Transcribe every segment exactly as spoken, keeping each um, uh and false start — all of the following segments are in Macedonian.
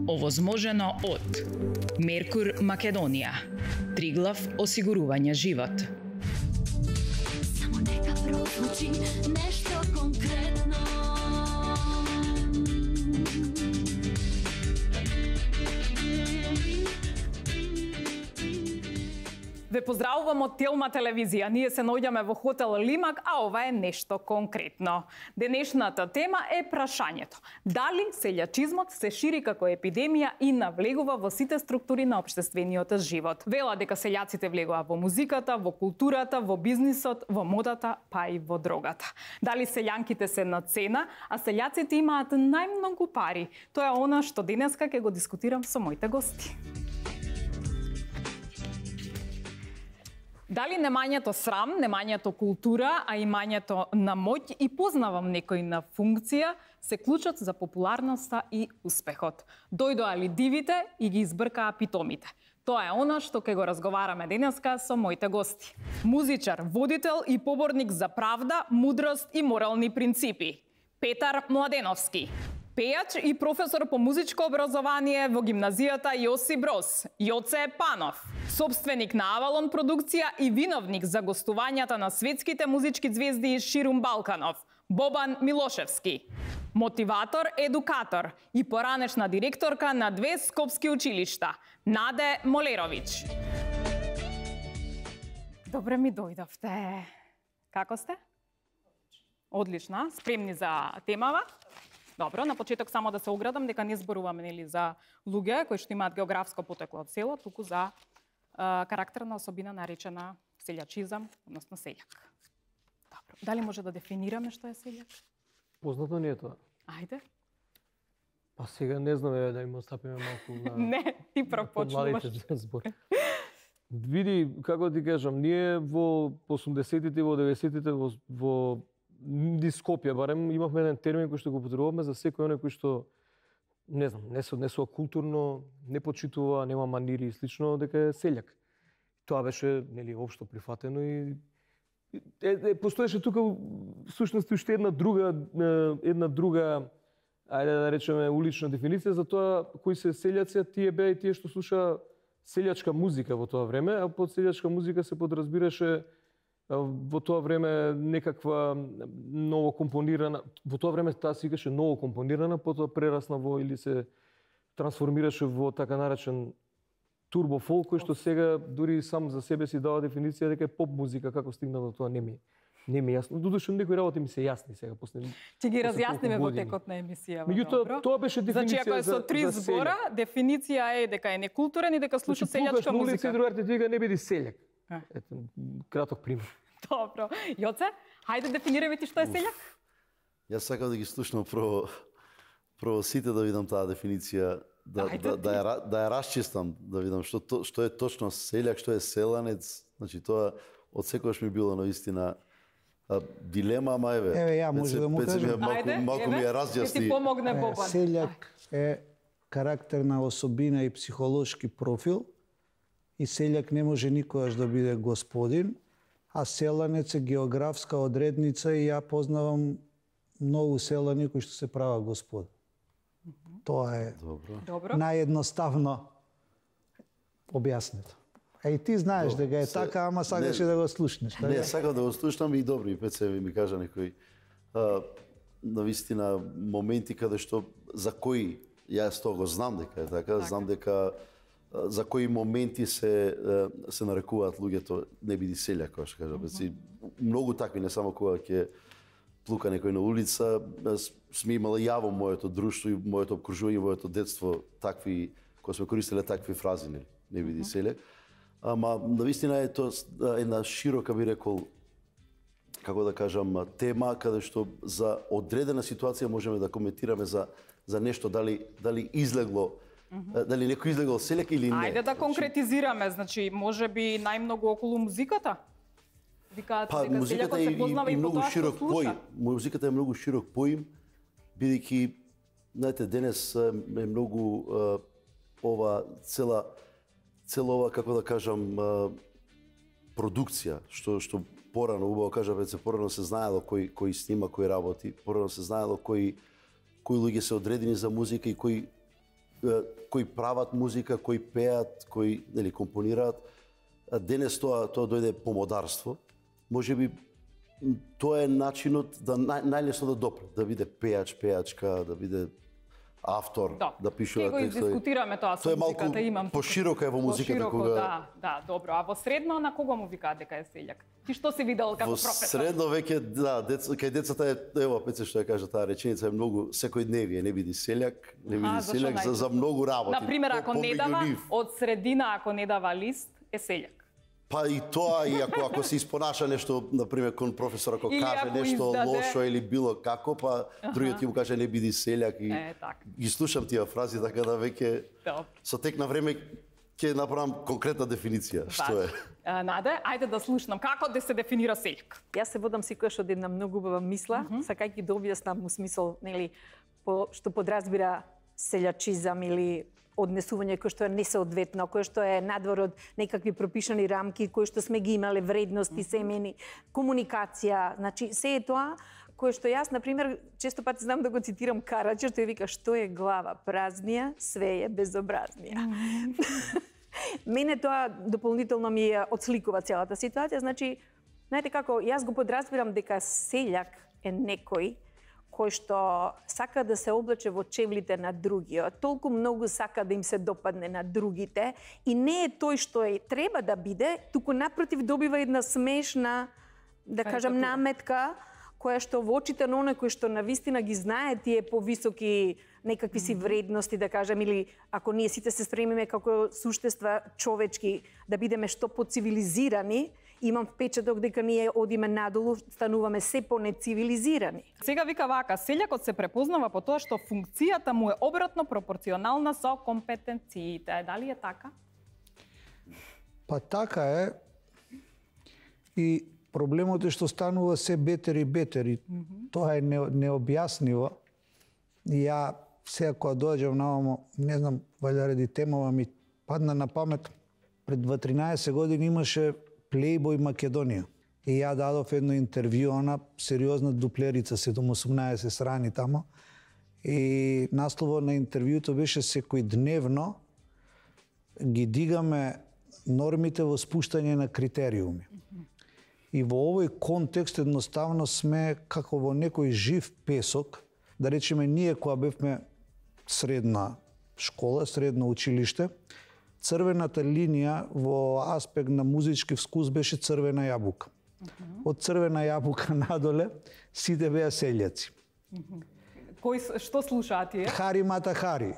Овозможено од Меркур Македонија, Триглав осигурување живот. Само нека прозвучи нешто конкретно. Ве поздравувам од Телма телевизија. Ние се наоѓаме во хотел Лимак, а ова е нешто конкретно. Денешната тема е прашањето. Дали селјачизмот се шири како епидемија и навлегува во сите структури на општествениот живот? Вела дека селјаците влегува во музиката, во културата, во бизнисот, во модата, па и во дрогата. Дали селјанките се на цена, а селјаците имаат најмногу пари? Тоа е она што денеска ќе го дискутирам со моите гости. Дали немањето срам, немањето култура, а имањето на моќ и познавам некој на функција се клучот за популарноста и успехот. Дојдоа ли дивите и ги избркаа питомите? Тоа е она што ќе го разговараме денеска со моите гости. Музичар, водител и поборник за правда, мудрост и морални принципи. Петар Младеновски. Пејач и професор по музичко образование во гимназијата Јосип Броз, Јоце Панов. Собственик на Авалон продукција и виновник за гостувањата на светските музички звезди ширум Балканов, Бобан Милошевски. Мотиватор, едукатор и поранешна директорка на две скопски училишта, Наде Молеровиќ. Добре ми дојдовте. Како сте? Одлично, спремни за темава? Добро, на почеток само да се оградам дека не зборуваме нели за луѓе кои што имаат географско потекло од село, туку за а, карактерна особина наречена селјачизам, односно селјак. Добро. Дали може да дефинираме што е селјак? Познато не е тоа. Ајде. Па сега не знаме да им остапиме малку на... Не, ти прв почнуваш. Збор. Види, како ти кажам, ние во осумдесетите, во деветдесетите, во, во ди Скопје барем имавме еден термин кој што го употребувавме за секој оној кој што не знам, не се однесува културно, не почитува, нема манири и слично, дека е селјак. Тоа беше нели општо прифатено и е, е, постоеше тука всушност уште една друга една друга ајде да речеме улична дефиниција за тоа кои се селјаци, тие беа и тие што слуша селјачка музика во тоа време, а под селјачка музика се подразбираше во тоа време некаква ново компонирана, во тоа време таа се викаше ново компонирана, потоа прерасна во или се трансформираше во така наречен турбо фолк, кој што сега дури сам за себе си дава дефиниција дека е поп музика, како стигна до тоа не ми не ми јасно. Додуше некои работи ми се јасни сега после. Ќе ги разјасниме во текот на емисијава. Меѓутоа тоа беше дефиниција. Значи ако е со три збора, дефиниција е дека е некултурен и дека слуша селјачка музика. Значи другарите ти вика не биди селјак. Ето, краток пример. Добро. Јоце, хајде дефинирај ти што е селјак? Јас сакам да ги слушнам прво прво сите да видам таа дефиниција, да Ајде, да, да, ја, да ја расчистам, да видам што што е точно селјак, што е селанец. Значи тоа од секогаш ми било навистина дилема, ама еве. Еве ја може да му кажам. Малку, малку ми ја разјасни. Ти помогне Бобан. Селјак е карактерна особина и психолошки профил и селјак не може никогаш да биде господин, а селанец е географска одредница и ја познавам многу селани кои што се прават господа. Mm-hmm. Тоа е Добро. наједноставно објаснето. А и ти знаеш дека е се, така, ама сакаше да го слушнеш. Не, не сакам да го слушнам и добро и Пеце ми кажа некои а, навистина моменти каде што за кои јас тоа го знам дека е така, така. Знам дека за кои моменти се се нарекуваат луѓето не биди селјак, како што кажа. Mm-hmm. Многу такви, не само кога ќе плука некој на улица, сме имала јаво моето друштво и моето обкружување, моето детство такви, кога сме користеле такви фрази, не, не биди mm-hmm. селјак. Ама навистина е тоа една широка, би рекол, како да кажам, тема каде што за одредена ситуација можеме да коментираме за за нешто дали дали излегло Mm-hmm. Дали некој излегол селјак или не? Ајде да конкретизираме, значи можеби најмногу околу музиката? Викаат па, дека музиката селјакот се познава и, и, и многу по тоа широк што слуша. поим. Музиката е многу широк поим, бидејќи знаете денес е многу а, ова цела цела ова, како да кажам, а, продукција што што порано убаво кажа веќе порано се знаело кој кој снима, кој работи, порано се знаело кои кои луѓе се одредени за музика и кои кои прават музика, кои пеат, кои нели компонираат. Денес тоа тоа дојде помодарство. Можеби тоа е начинот да нај, најлесно да допре, да биде пеач, пеачка, да биде автор, да, да пишува текстови. Ќе го дискутираме тоа со музиката, малку имам. Пошироко е во музиката кога да, да, добро. А во средно на кого му викаат дека е селјак? Ти што си видел како во професор? Во средно веќе да, дец, кај децата е ево Пеце што ја кажа таа реченица е многу секојдневие, не биди селјак, не биди А, селјак за, за многу работи. На пример, ако по, не дава од средина, ако не дава лист, е селјак. Па и тоа, и ако, ако се испонаша нешто, например, кон професор, ако или каже ако нешто издаде... лошо или било како, па другиот ќе му каже не биди селјак и е, так. ги слушам тие фрази, така да веќе со тек на време ќе направам конкретна дефиниција, што е. А, Наде, ајде да слушнам како да се дефинира селјак. Јас се водам секогаш од една многу убава мисла, mm -hmm. сакајќи да објаснам му смисол, нели, по што подразбира селјачизам или однесување кој што е несоодветно, кој што е надвор од некакви пропишани рамки, кои што сме ги имале вредности, семени, комуникација, значи се е тоа кое што јас, например, често пати знам да го цитирам Караджа, тој вика што е глава празнија, све е безобразнија. Mm -hmm. Мене тоа дополнително ми ја отсликува целата ситуација, значи, знаете како, јас го подразбирам дека селјак е некој кој што сака да се облече во чевлите на другиот, толку многу сака да им се допадне на другите и не е тој што е треба да биде, туку напротив добива една смешна, да кажам, наметка, која што во очите на оној кој што навистина ги знае тие повисоки некакви си вредности, да кажам, или ако ние сите се стремиме како суштества човечки да бидеме што поцивилизирани, имам впечаток дека ние одиме надолу, стануваме се понецивилизирани. Сега вика вака, селјакот се препознава по тоа што функцијата му е обратно пропорционална со компетенциите. Дали е така? Па така е. И проблемот е што станува се бетер и бетер. И mm -hmm. Тоа е не, необјаснливо. И ја сега кога доаѓам навамо, не знам, валја ради темава ми падна на памет, пред дваесет години имаше Playboy Македонија. И ја дадов едно интервју, она сериозна дуплерица, седум-осумнаесет страни тамо. И насловот на интервјуто беше секојдневно ги дигаме нормите во спуштање на критериуми. И во овој контекст едноставно сме како во некој жив песок, да речеме ние кога бевме средна школа, средно училиште, црвената линија во аспект на музички вкус беше црвена јабука. Uh -huh. Од црвена јабука надоле сите беа селјаци. Uh -huh. Кој што слушаат тие? Хари Мата Хари.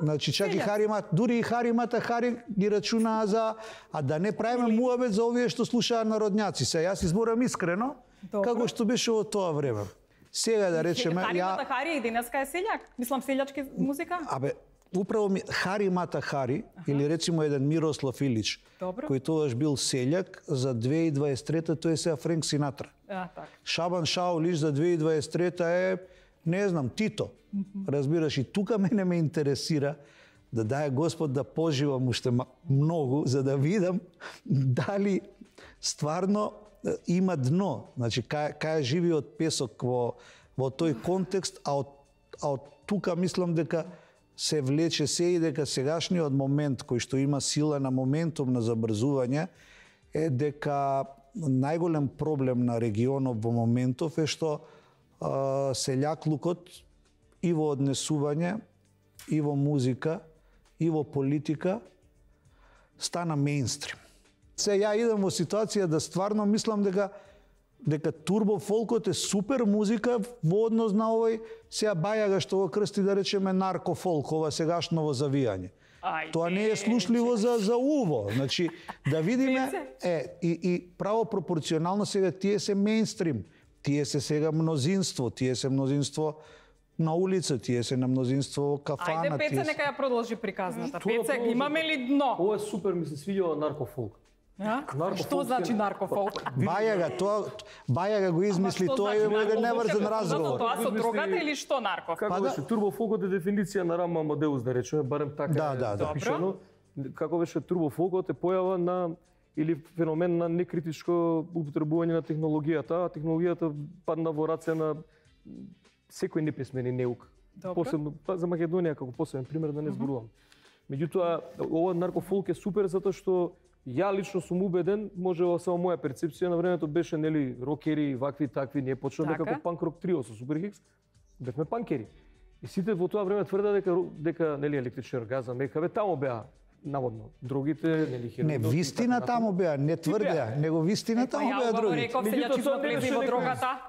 Значи чак и Хари Мата, дури и Хари Мата Хари ги рачунаа за, а да не правиме муабет за овие што слушаат народњаци. Се јас изборам искрено, добро, како што беше во тоа време. Сега да речеме, Хари ја... Мата Хари и денеска е селјак? Мислам селјачки музика? Абе, управо ми Хари Мата Хари, uh-huh, или речимо еден Мирослав Илич, добро, кој тогаш бил селјак, за две илјади и дваесет и трета тој е сега Френк Синатра. А, так. Шабан Шаолиш за две илјади и дваесет и трета е, не знам, Тито. Uh-huh. Разбираш, и тука мене ме интересира да дае Господ да поживам уште многу, за да видам дали стварно има дно. Значи, кај, кај живиот песок во, во тој контекст, а од, а од тука мислам дека се влече се и дека сегашниот момент кој што има сила на моментум на забрзување е дека најголем проблем на регионот во моментов е што а, селјаклукот и во однесување, и во музика, и во политика стана мејнстрим. Се ја идам во ситуација да стварно мислам дека дека турбо фолкот е супер музика во однос на овој сега бајага што го крсти да речеме наркофолк, ова сегашново завијање. Ај, тоа не е слушливо за за уво. Значи да видиме е и и право пропорционално сега тие се мејнстрим, тие се сега мнозинство, тие се мнозинство на улица, тие се на мнозинство во кафана. Ајде Пеце нека ја продолжи приказната. Пеце, имаме ли дно? Ова е супер, ми се свиѓа наркофолк. Што значи наркофолк? Бајага, тоа Бајага го измисли, тоа е еден неврзен разговор. Тоа со дрогата или што нарков? Како беше турбофолкот е дефиниција на Рам Амадеус, да речеме, барем така да, да, да. запишано. Како беше турбофолкот е појава на или феномен на некритичко употребување на технологијата, а технологијата падна во раце на секој неписмен и неук. Добро. Посебно па, за Македонија како посебен пример да не зборувам. Меѓутоа, ова наркофолк е супер затоа што ја лично сум убеден, може само моја перцепција на времето беше нели рокери, вакви такви, ние почнавме Така. како панк рок трио со Суперхикс, бевме панкери. И сите во тоа време тврдеа дека дека нели електричен оргазам, екаве таму беа наводно. Другите нели хероин. Не, вистина таму беа, не тврдеа, него вистина таму Па ја беа убаво другите. реков, Меѓутоа, селјачизма тоа не влезе беше во некој- дрогата.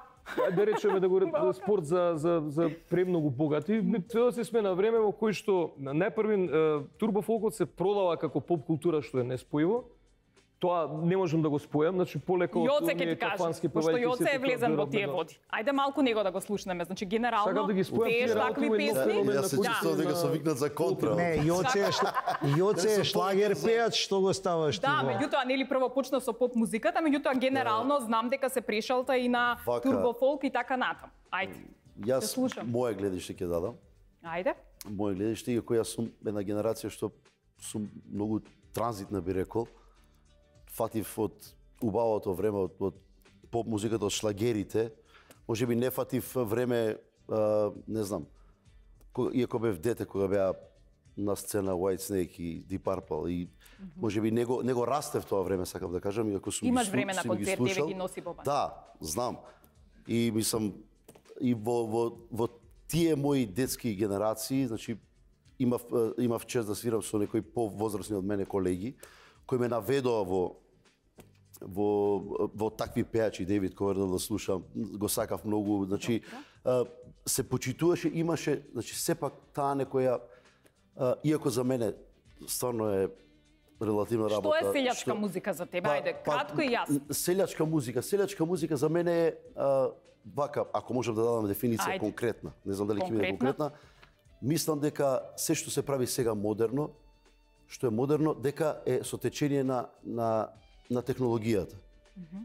Да речеме да го ре- спорт за за за премногу богати, треба да се сме на време во кој што на најпрвин турбофолкот се продава како поп култура што е неспојиво. Тоа не можам да го спојам, значи полеко Јоце ќе оние ти кажам, кафански пошто певајки Јоце е сето влезен во тоа тие веројатно. води. Ајде малку него да го слушнеме. Значи генерално Сакам да ги спојам пееш тие такви работи, песни. феномен Јас на се кој чувствувам дека се викнат за контра. Не, Јоце е шла... Јоце е шлагер пејач, што го ставаш ти Да, во- меѓутоа нели прво почна со поп музиката, меѓутоа генерално знам дека се прешалта и на Вака. турбофолк и така натам. Ајде. Те Јас слушам. моје гледиште ќе дадам. Ајде. Моје гледиште, иако јас сум една генерација што сум многу транзитна би рекол. Фатив од убавото време од, од поп музиката, од шлагерите. Може би не фатив време, а, не знам, кога, иако бев дете кога беа на сцена White Snake и Deep Purple и може би него него растев тоа време, сакам да кажам, иако сум Имаш ги, слу- време на сум ги концерт, слушал. еве ги носи Боба. Да, знам. И мислам и во во во тие мои детски генерации, значи имав е, имав чест да свирам со некои повозрасни од мене колеги кои ме наведоа во во во такви пејачи, Дейвид Ковердел да слушам, го сакав многу, значи е, се почитуваше, имаше, значи сепак таа некоја е, иако за мене стварно е релативна Што работа. е селјачка музика за тебе? Ајде, кратко и јасно. Селјачка музика, селјачка музика за мене е а, вака, ако можам да дадам дефиниција Ајде. конкретна, не знам дали ќе биде Конкретна. конкретна, мислам дека се што се прави сега модерно, што е модерно, дека е со течение на на на технологијата.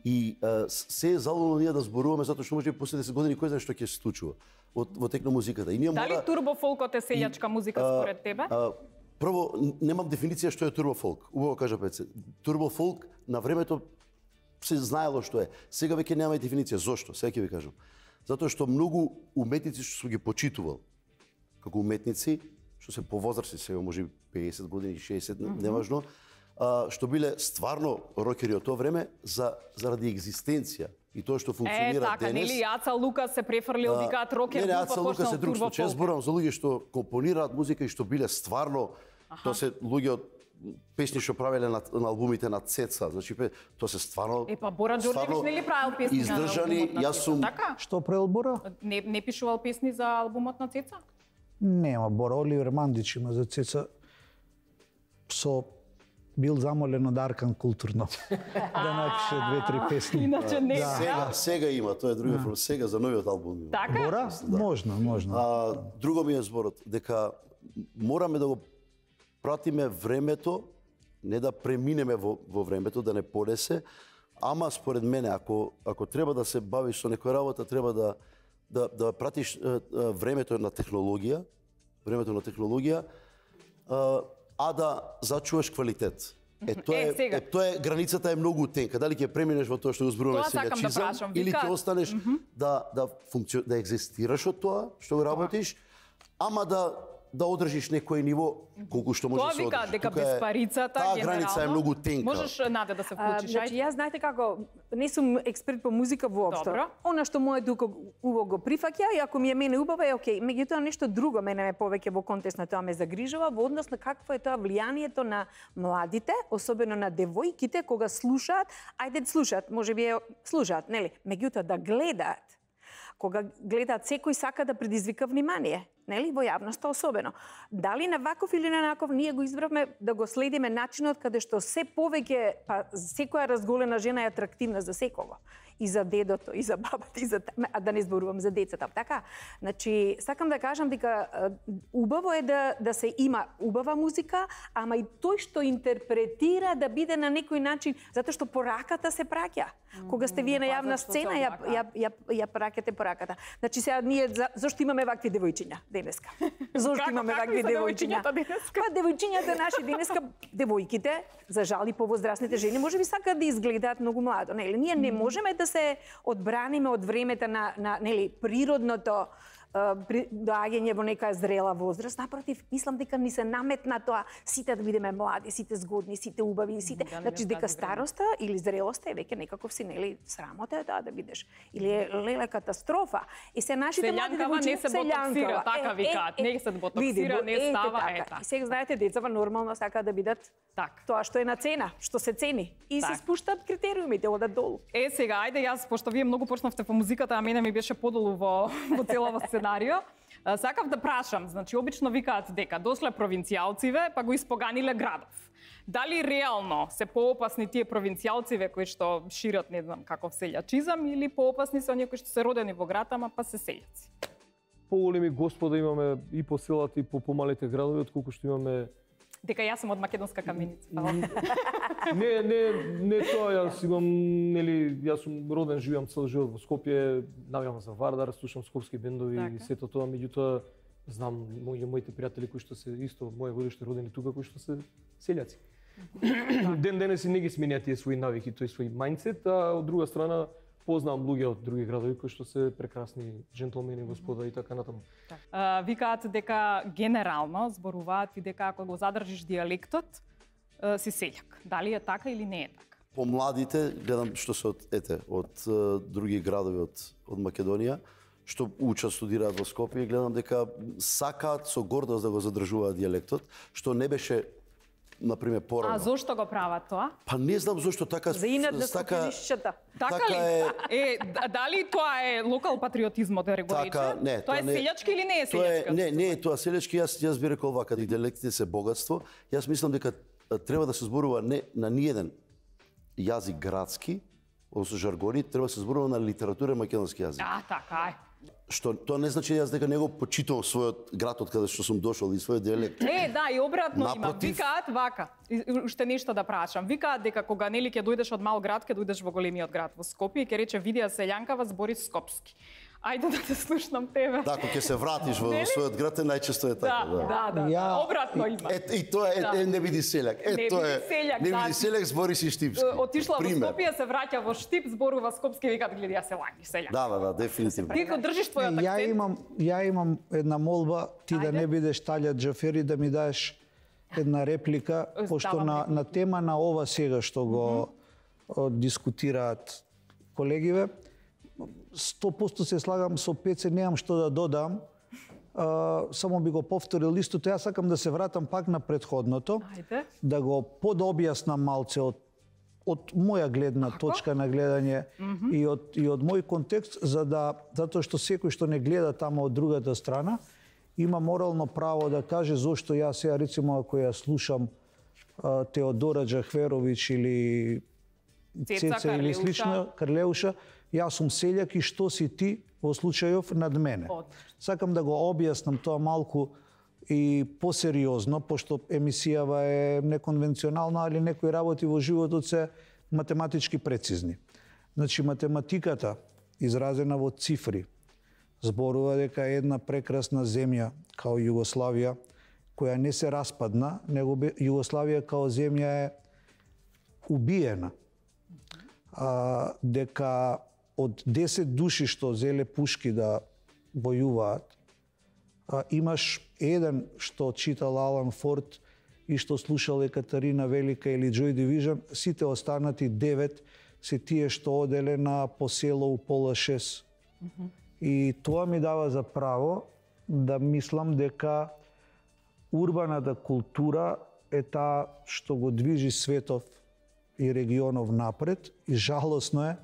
И а, се е залудно ние да зборуваме затоа што може би после десет години кој знае што ќе се случува од во тек на музиката. И ние Дали мора турбофолкот е селјачка музика а, според тебе? а, прво, немам дефиниција што е турбофолк. Убаво кажа Пеце. Турбофолк на времето се знаело што е. Сега веќе нема дефиниција. Зошто? Сега ќе ви кажам. Затоа што многу уметници што сум ги почитувал како уметници, што се повозрасни сега, може би педесет години, шеесет, mm -hmm. неважно, а, што биле стварно рокери од тоа време за заради екзистенција и тоа што Е, функционира така, денес. нели Аца Лука се префрлил, А, викаат рокер, не, не, група Аца Лука почнал се друг случај. Јас турбофолк. зборувам за луѓе што компонираат музика и што биле стварно, тоа се луѓе од песни што правеле на, на албумите на Цеца, значи пе- тоа се стварно. Е, па Бора Ѓорѓевич стварно нели правил песни на издржани, албумот на јас Цеца, сум Така? Што преелбора? Не, не пишувал песни за албумот на Цеца? Нема, Бора Оливер Мандич има за Цеца со бил замолен од Аркан културно да напише две-три песни. Иначе не. сега, сега има, тоа е други проблем, сега за новиот албум има. Така? Бора? Можно, можно. А, друго ми е зборот, дека мораме да го пратиме времето, не да преминеме во, во времето, да не подесе, ама според мене, ако, ако треба да се бавиш со некоја работа, треба да, да, да пратиш е, е, времето на технологија, времето на технологија, е, а да зачуваш квалитет. Е, тоа Е, е, сега. е, тоа е, границата е многу тенка. Дали ќе преминеш во тоа што го зборуваме Тоа сакам да селјачизам, прашам. или Вика- ќе останеш да да функци... да екзистираш од тоа што го работиш, ама да да одржиш некој ниво колку што може Тоа да се вика одржи. дека Тука е- без парицата таа генерално. граница е многу тенка. Можеш Наде да се А, вклучиш, значи, ајде. јас знаете како, не сум експерт по музика воопшто. Добро. Она што мојот дух убаво го прифаќа и ако ми е мене убаво е окей. Меѓутоа нешто друго мене ме повеќе во контекст на тоа ме загрижува во однос на какво е тоа влијанието на младите, особено на девојките кога слушаат, ајде слушаат, можеби е слушаат, нели? Меѓутоа да гледаат. Кога гледаат, секој сака да предизвика внимание, нели, во јавноста особено. Дали на ваков или на наков, ние го избравме да го следиме начинот каде што се повеќе, па секоја разголена жена е атрактивна за секого. И за дедото, и за бабата, и за а да не зборувам за децата, така? Значи, сакам да кажам дека е, убаво е да да се има убава музика, ама и тој што интерпретира да биде на некој начин, затоа што пораката се праќа. Кога сте вие на јавна зашто се сцена, ја облака. ја ја ја праќате пораката. Значи сега ние за, зошто имаме вакви девојчиња денеска? Зошто Како- имаме какви вакви се девојчиња? девојчињата денеска? Па девојчињата наши денеска, девојките, за жал и повозрасните жени, можеби сакаат да изгледаат многу младо, нели? Ние не можеме да се одбраниме од времето на на нели природното при доаѓање во нека зрела возраст, напротив, мислам дека ни се наметна тоа сите да бидеме млади, сите згодни, сите убави, сите, Да, значи дека староста или зрелоста е веќе некаков си нели срамота е таа да бидеш или е леле катастрофа. И се нашите млади да Селјанкава не се ботоксира, така викаат, не се ботоксира, не става, е така. И сега знаете децава нормално сакаат да бидат Так. тоа што е на цена, што се цени и Так. се спуштаат критериумите, одат долу. Е, сега, ајде јас, пошто вие многу почнавте по музиката, а мене ми беше подолу во, во целава сценарио, а, сакав да прашам, значи, обично викаат дека дошле провинцијалциве, па го испоганиле градов. Дали реално се поопасни тие провинцијалциве кои што шират, не знам, каков селјачизам, или поопасни се оние кои што се родени во град, ама па се селјаци? Поголеми господа имаме и по селата и по помалите градови, отколку што имаме. Дека јас сум од македонска каменица. Не, не, не тоа, јас имам, нели, јас сум роден, живеам цел живот во Скопје, навијам за Вардар, слушам скопски бендови Така. и сето тоа, меѓутоа знам мои моите пријатели кои што се исто моје годиште родени тука, кои што се селјаци. Ден денес и не ги сменија тие своји навики, тој свој мајндсет, а од друга страна познавам луѓе од други градови кои што се прекрасни джентлмени, господа и така натаму. А, викаат дека генерално зборуваат и дека ако го задржиш дијалектот, а, си селјак. Дали е така или не е така? По младите гледам што се од ете од е, други градови од од Македонија што учат, студираат во Скопје, гледам дека сакаат со гордост да го задржуваат дијалектот, што не беше например порано. А зошто го прават тоа? Па не знам зошто така За инат да така скопјанишчата. Така, така ли? е. Е, д- дали тоа е локал патриотизмот да го рече? Така, не, тоа е не- селјачки или не е Тоа е, селјачки? не, не е тоа селјачки, јас јас би рекол вака, дијалектите се богатство. Јас мислам дека а, треба да се зборува не на ниеден јазик градски, одnosno жаргони, треба да се зборува на литература и македонски јазик. А, така е. Што тоа не значи јас дека не го почитувам својот град од каде што сум дошол и својот дијалект. Е, да, и обратно има. Напротив. Викаат вака. И- и уште нешто да прашам. Викаат дека кога нели ќе дојдеш од мал град, ќе дојдеш во големиот град во Скопје и ќе рече видија селјанкава збори скопски. Ајде да те слушнам тебе. Да, кога ќе се вратиш во, во својот град, е најчесто е да, така. да, да. Ја- Обратно има. Е, и тоа е, Да. е не биди селјак. Е, Не тоа биди е. селјак, не да. биди селјак, збори си штипски. Отишла во Пример. Скопје, се враќа во Штип, зборува скопски, викаат гледи ја селјак, селјак. Да, да, да, дефинитивно. Ти го држиш твојот Ја акцент. имам, ја имам една молба, ти да Ајде. не бидеш Талја Џафери, да ми дадеш една реплика, Давам пошто на, на тема на ова сега што го о, дискутираат колегиве, сто проценти се слагам со Пеце, немам што да додам, а, само би го повторил истото. Јас сакам да се вратам пак на предходното, Ајде. да го подобјаснам малце од од моја гледна точка на гледање и од и од мој контекст, за да затоа што секој што не гледа тамо од другата страна има морално право да каже зошто јас сега рецимо ако ја слушам а, Теодора Џахверовиќ или Цеца Цеца или Карлеуша. слично Карлеуша, јас сум селјак и што си ти во случајов над мене. Одлично. Сакам да го објаснам тоа малку и посериозно, пошто емисијава е неконвенционална, али некои работи во животот се математички прецизни. Значи, математиката, изразена во цифри, зборува дека е една прекрасна земја, као Југославија, која не се распадна, него бе- Југославија као земја е убиена. А, дека од десет души што зеле пушки да војуваат, а, имаш еден што читал Алан Форд и што слушал Екатерина Велика или Joy Division, сите останати девет се тие што оделе на посело у пола шест. И тоа ми дава за право да мислам дека урбаната култура е таа што го движи светов и регионов напред и жалосно е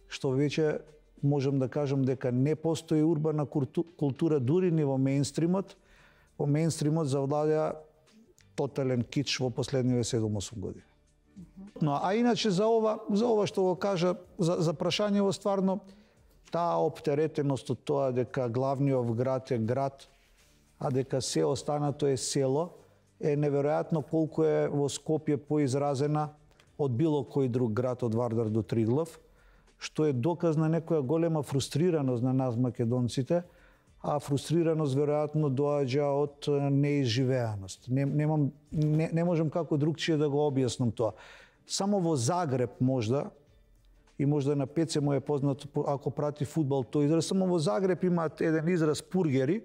што веќе можам да кажам дека не постои урбана култу- култура дури ни во мејнстримот. Во мејнстримот завладеа тотален кич во последниве седум-осум години. Но а иначе за ова, за ова што го кажа, за, за прашањево стварно, таа оптеретеност од тоа дека главниот град е град, а дека се останато е село, е неверојатно колку е во Скопје поизразена од било кој друг град од Вардар до Триглав, што е доказ на некоја голема фрустрираност на нас македонците, а фрустрираност веројатно доаѓа од е, неизживеаност. Не, немам, не, не можам како другчие да го објаснам тоа. Само во Загреб можда и можда на Пеце му е познат ако прати фудбал тој израз. Само во Загреб имаат еден израз пургери.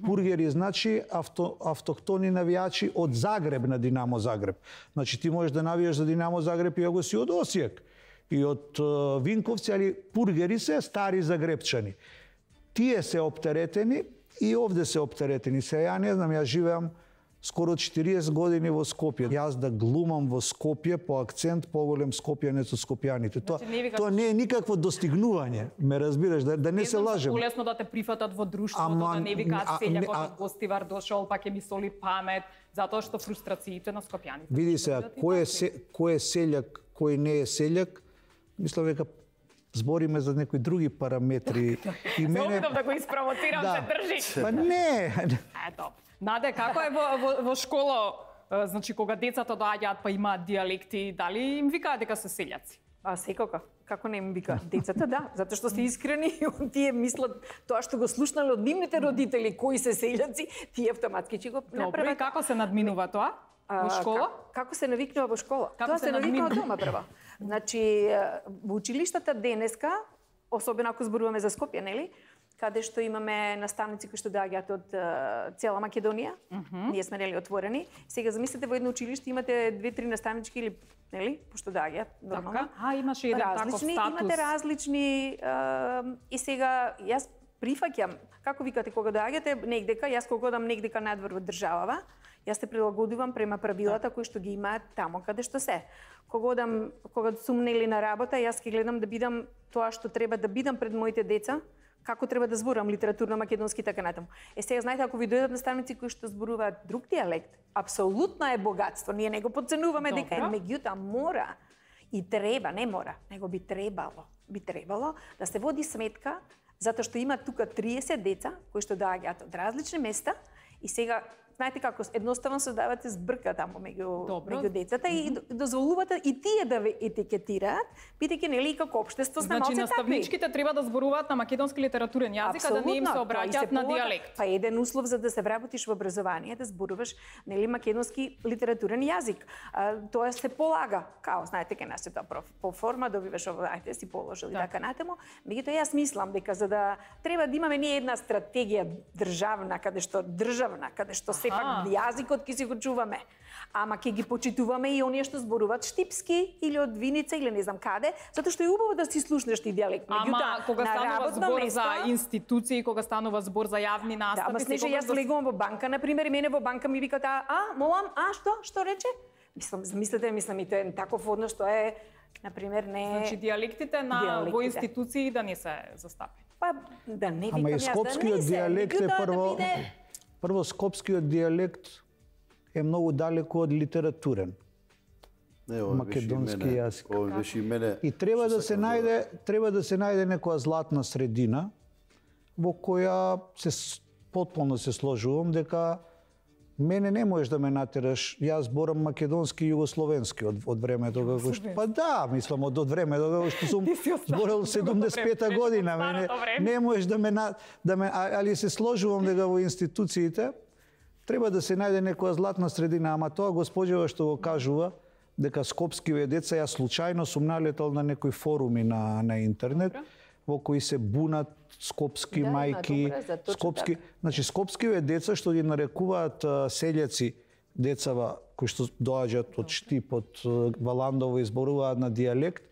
Пургери значи авто, автохтони навијачи од Загреб на Динамо Загреб. Значи ти можеш да навијаш за Динамо Загреб и ако си од Осијак и од uh, Винковци, али пургери се стари загребчани. Тие се оптеретени и овде се оптеретени. Се ја не знам, ја живеам скоро четириесет години во Скопје. Јас да глумам во Скопје по акцент поголем скопјанец од скопјаните. Тоа, Значи, не викаш- тоа не е никакво достигнување, ме разбираш, да, да не се лажем. Полесно да те прифатат во друштвото, Ама, да не викаат а, селјакот не, а- од Гостивар дошол, па ќе ми соли памет, затоа што фрустрациите на скопјаните. Види ќе се, бидат и кој е, такви. се, кој е селјак, кој не е селјак, мислам дека збориме за некои други параметри. И Се обидам да го испровоцирам, Да. се држи. Па не, Ето. Наде, како е во, во, во школа, е, значи кога децата доаѓаат па имаат диалекти, дали им викаат дека се селјаци? А секако, како не им вика децата, да, затоа што се искрени и тие мислат тоа што го слушнале од нивните родители кои се селјаци, тие автоматски ќе го Добро, и направат. како се надминува тоа? Во А, школа? Как, како се навикнува во школа? Како Тоа се се навикнува надминува? дома прво. Значи, во училиштата денеска, особено ако зборуваме за Скопје, нели? Каде што имаме наставници кои што доаѓаат од е, цела Македонија. Mm -hmm. Ние сме нели отворени. Сега замислете во едно училиште имате две-три наставнички или нели, пошто доаѓаат нормално. Така? А, имаше еден таков различни, статус. имате различни е, и сега јас прифаќам, како викате кога доаѓате негдека, јас кога одам негдека надвор во државава, јас се прилагодувам према правилата кои што ги имаат тамо каде што се. Кога одам, кога сум нели на работа, јас ќе гледам да бидам тоа што треба да бидам пред моите деца, како треба да зборам литературно македонски така натаму. Е сега знаете ако ви дојдат наставници кои што зборуваат друг дијалект, апсолутно е богатство. Ние не го подценуваме дека е, Добро. меѓутоа мора и треба, не мора, него би требало, би требало да се води сметка затоа што има тука триесет деца кои што доаѓаат од различни места и сега знаете како едноставно создавате збрка таму меѓу Добро. меѓу децата и дозволувате и тие да ве етикетираат, бидејќи нели и како општество сме Значи, малце такви. наставничките треба да зборуваат на македонски литературен јазик, а да не им се Апсолутно, тоа и се обраќаат на полага. дијалект. Па еден услов за да се вработиш во образование да зборуваш нели македонски литературен јазик. А, тоа се полага. Као знаете ке нас е тоа проф- по форма добиваш ово, ајде си положил и Да. така натаму. Меѓутоа јас мислам дека за да треба да имаме ние една стратегија државна каде што државна каде што сепак јазикот ќе си го чуваме. Ама ќе ги почитуваме и оние што зборуваат штипски или од Виница или не знам каде, затоа што е убаво да си слушнеш ти дијалект. Ама кога на станува работно збор место, за институции, кога станува збор за јавни да, настапи, ама снеже секогаш јас да- легувам во банка, на пример, и мене во банка ми викаат, а, а, молам, а, што, што рече? Мислам, мислите, мислам и тоа е таков однос што е, на пример, не... Значи дијалектите на Дијалектите. во институции да не се застапени. Па, да не викам ама и јас, да скопскиот не се, дијалект е меѓутоа да прво биде- прво скопскиот дијалект е многу далеко од литературен. Не, ова беше и Македонски мене. јазик. Ова беше и мене. И треба што да се сакам најде, треба да се најде некоја златна средина во која се с- потполно се сложувам дека мене не можеш да ме натераш. Јас зборам македонски и југословенски од, од времето како што па да, мислам од, од времето како што сум Ти си од зборел седумдесет и пета време, година, од мене старото време. не можеш да ме на, да ме а- али се сложувам дека во институциите треба да се најде некоја златна средина, ама тоа госпоđeva што го кажува дека скопскиве деца, јас случајно сум налетал на некои форуми на на интернет во кои се бунат скопски Да, има, мајки, добре, за точно скопски, така. значи скопскиве деца што ги нарекуваат а, селјаци, децава кои што доаѓаат од Штип, од а, Валандово и зборуваат на дијалект,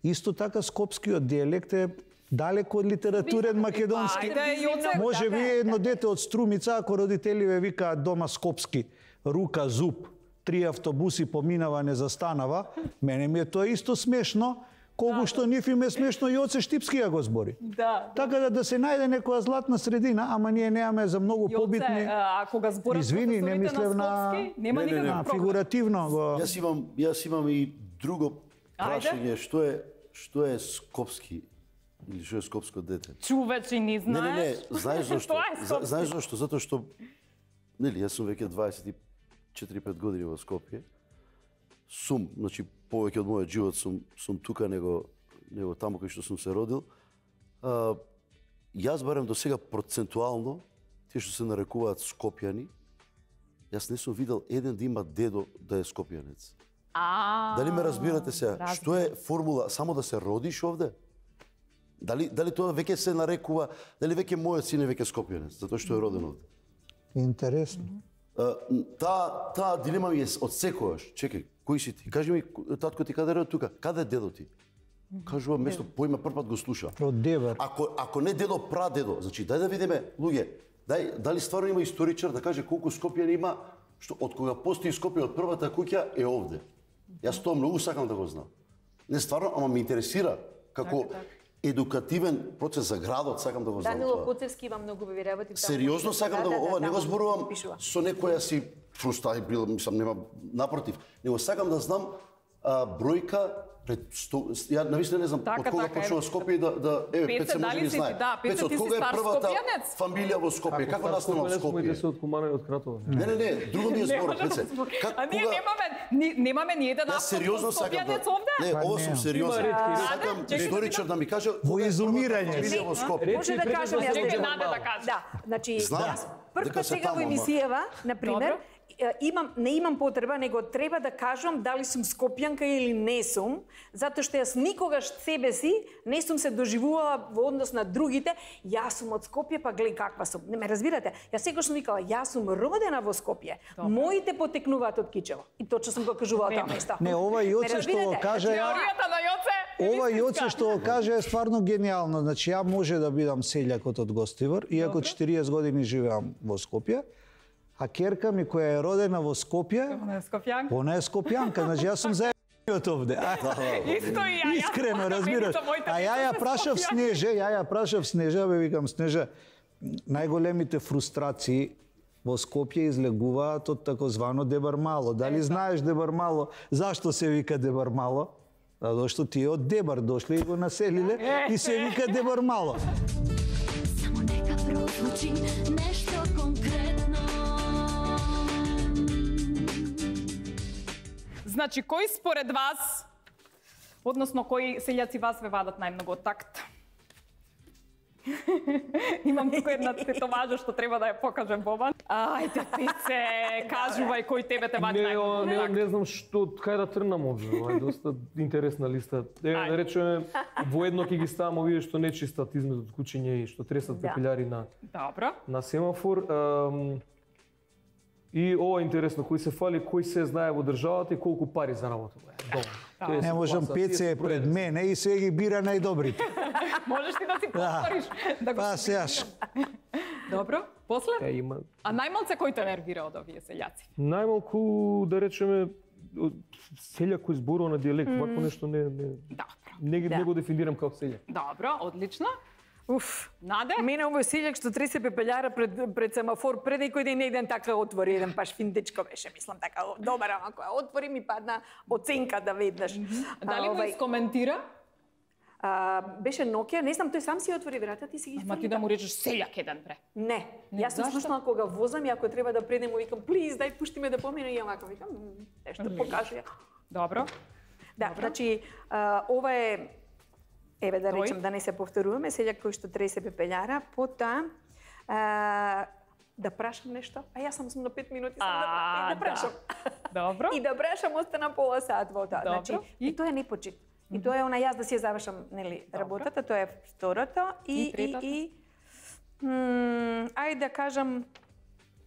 исто така скопскиот дијалект е далеко од литературен македонски. Ајде, Јоце, Може така би е. едно дете од Струмица, ако родителиве викаат дома скопски, рука, зуб, три автобуси поминава, не застанава, мене ми е тоа исто смешно, колку што нив им е смешно и Јоце Штипски ја го збори. Да. Така да да се најде некоја златна средина, ама ние немаме за многу Јоце, побитни. а кога зборат Извини, не професорите мислев на- Скопски, нема Не, не, не. никаков А, проблем. фигуративно го... Јас имам, јас имам и друго прашање, што е што е скопски или што е скопско дете? Чувачи ни Не, не, не, знаеш. знаеш зашто? Тоа е За- скопски. Знаеш зашто? Затоа што нели јас сум веќе дваесет и четири пет години во Скопје. Сум, значи повеќе од мојот живот сум сум тука него него таму кај што сум се родил. А, јас барем до сега процентуално тие што се нарекуваат скопјани, јас не сум видел еден да има дедо да е скопјанец. А. Дали ме разбирате сега? разбирам. Што е формула само да се родиш овде? Дали дали тоа веќе се нарекува, дали веќе мојот син е веќе скопјанец, затоа што е роден овде? Интересно. А, Таа таа дилема ми е од секогаш. Чекај, кој си ти? Кажи ми, татко ти каде е тука? Каде е дедо ти? Кажува место поима првпат го слуша. Од Дебар. Ако ако не дедо, прадедо, значи дај да видиме, луѓе, дај дали стварно има историчар да каже колку Скопјани има, што од кога постои Скопје од првата куќа е овде. Јас тоа многу сакам да го знам. Не стварно, ама ме интересира како едукативен процес за градот, сакам да го знам Данило тоа. Коцевски има многу убави работи. Сериозно сакам да го, ова не го зборувам пишува. со некоја си фрустрај бил, мислам нема напротив, него сакам да знам а, бројка пред сто, ја навистина не знам Така, од кога така, почнува еве. Скопје да да еве Пеце, Пеце може дали би си знае. ти- да, Пеце, Пеце, од ти си кога е стар првата скопјанец? фамилија во Скопје? Како настанал Моите Скопје? се од Кумана и од Кратово. Не, не, не, друго ми е Не збор, може да Пеце. збор- Как А ние кога немаме, ни- немаме ни еден Јас сериозно сакам да скопјанец овде? Не, Па ова не. сум сериозен. Има ретки, Сакам Аде, чекай, историчар да ми каже Во кога е првата изумирање фамилија си. во Скопје. Речи Може да пред кажам да јас се дека наде да кажеш. Да, значи Знам, јас прв дека пат се сега во таму, ама. емисијава, на пример, е, имам не имам потреба, него треба да кажам дали сум скопјанка или не сум, затоа што јас никогаш себе си не сум се доживувала во однос на другите, јас сум од Скопје, па гледај каква сум. Не ме разбирате? Јас секогаш сум викала, јас сум родена во Скопје. Моите потекнуваат од Кичево. И точно сум го кажувала тоа место. Не, ова Јоце што го каже, Теоријата на Јоце е ова вистинска. Јоце што го каже е стварно гениално. Значи ја може да бидам селјакот од Гостивар, иако четириесет години живеам во Скопје, а керка ми која е родена во Скопје, Она е скопјанка. она е скопјанка, значи јас сум заедниот овде. А, Исто и ја. јас Искрено, сакам разбираш. едица, моите А ја ја деца се прашав скопјанки. Снеже, ја ја прашав Снежа, бе викам Снежа, најголемите фрустрации во Скопје излегуваат од такозвано Дебар Мало. Дали знаеш Дебар Мало? Зашто се вика Дебар Мало? Затоа што тие од Дебар дошле и го населиле и се вика Дебар Мало. Само нека прозвучи нешто конкретно. Значи, кој според вас, односно кои селјаци вас ве вадат најмногу од такт? Имам тука една тетоважа што треба да ја покажем Бобан. Ајде, Пице, кажувај кој тебе те вади Не, о, најмногу не, од такт. не знам што, кај да тргнам овде, ова е доста интересна листа. Е, Ајде. да речеме, воедно ќе ги ставам овие што не чистат измеѓу куќиња и што тресат Да. пепелјари на Добро. на семафор. Ам, и ова е интересно, кој се фали, кој се знае во државата и колку пари заработува. Добро. Тие Не се можам, пласат, тие Пеце се е пред проедени. мене и се ги бира најдобрите. Можеш ти да си повториш. Да го... Па сеаш. Добро, после? Е, има А најмалце кој те нервира од овие селјаци? најмалку да речеме од селјак кој зборува на дијалект, вакво нешто не не Добро. не, ги- Да. не го дефинирам како селјак. Добро, одлично. Уф. Наде? Мене овој селјак што тресе пепелјара пред пред семафор, пред некој ден еден така отвори, еден паш фин дечко беше, мислам така, о, добар, ама која отвори ми падна оценка да веднаш. Дали А, го овај, искоментира? а, беше Nokia, не знам, тој сам си отвори врата, ти си ги Ама ти да му речеш селјак еден бре. Не, Не, јас сум зашто? слушнала кога возам и ако треба да предем, му викам, плиз, дај пушти ме да помине и овако викам, «М, нешто покажи. Добро. Да, Добро. значи а, ова е еве да Тој? речем да не се повторуваме, селјак кој што тресе пепелјара, потоа а, да прашам нешто. А јас сам сум на пет минути сам да, А, и да прашам. Добро. И да прашам остана пола сат во тоа. Добро. Значи, и тоа е непочит. И тоа е она јас да си ја завршам, нели, работата, тоа е второто и И и третото? и м, ајде да кажам